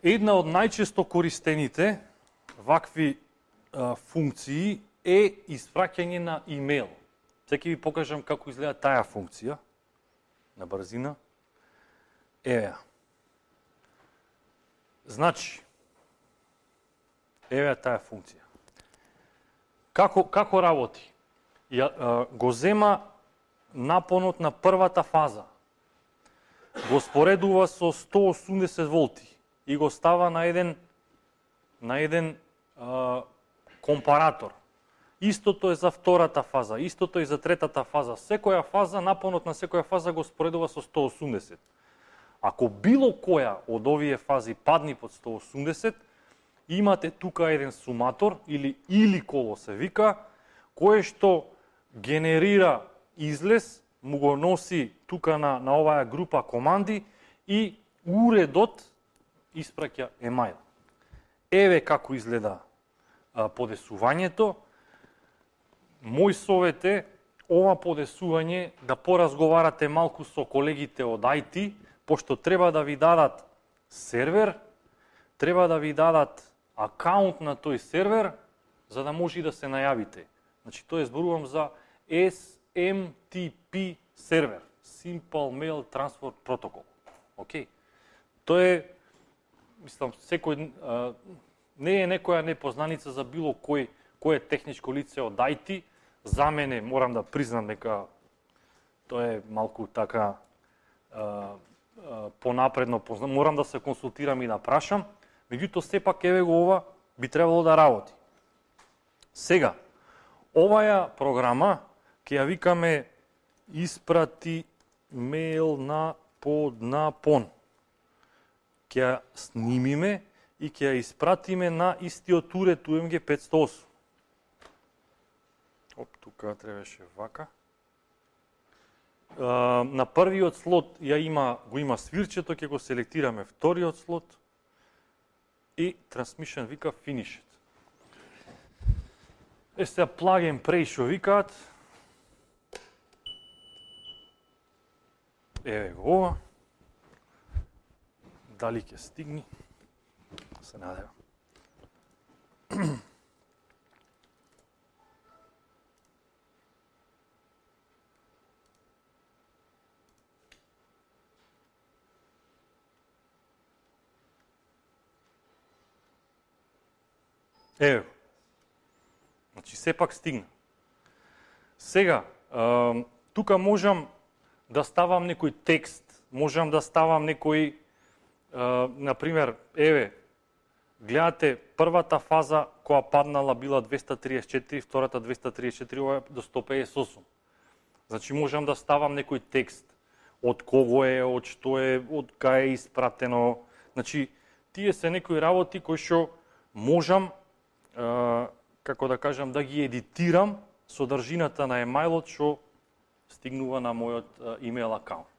Една од најчесто користените вакви функции е испраќање на имейл. Сега ќе ви покажам како изгледа таа функција на брзина. Еве. Значи, еве таа функција. Како работи? Го зема напонот на првата фаза, го споредува со 180 волти и го става на еден компаратор. Истото е за втората фаза, истото е за третата фаза. Секоја фаза, напонот на секоја фаза го споредува со 180. Ако било која од овие фази падни под 180, имате тука еден суматор или коло се вика, кое што генерира излез, му го носи тука на оваа група команди и уредот испраќа емайл. Еве како изгледа подесувањето. Мој совет е ова подесување да поразговарате малку со колегите од IT, пошто треба да ви дадат сервер, треба да ви дадат акаунт на тој сервер, за да може да се најавите. Значи, тој зборувам за SMTP сервер, Simple Mail Transfer Protocol. Океј? Тој е, мислам, секој не е некоја непознаница за било кој е техничко лице од IT. За мене, морам да признам дека тоа е малку така понапредно познам. Морам да се консултирам и да прашам. Меѓутоа, сепак еве го ова би требало да работи. Сега, оваја програма ќе ја викаме испрати мейл на поднапон. Ќе ја снимиме и ќе ја испратиме на истиот уред UMG 508. Тука требаше вака. На првиот слот го има свирчето, ќе го селектираме вториот слот и Transmission вика Finished. Сега plug and pray што викаат. Еве го ова. Дали ќе стигни? Се надевам. Еве. Значи, сепак стигна. Сега, тука можам да ставам некој текст, можам да ставам некој, например, еве, гледате, првата фаза која паднала била 234, втората 234, ова е до 158. Значи, можам да ставам некој текст, од кого е, од што е, од кај е испратено. Значи, тие се некои работи кои што можам, како да кажам, да ги едитирам содржината на емајлот што стигнува на мојот имейл акаунт.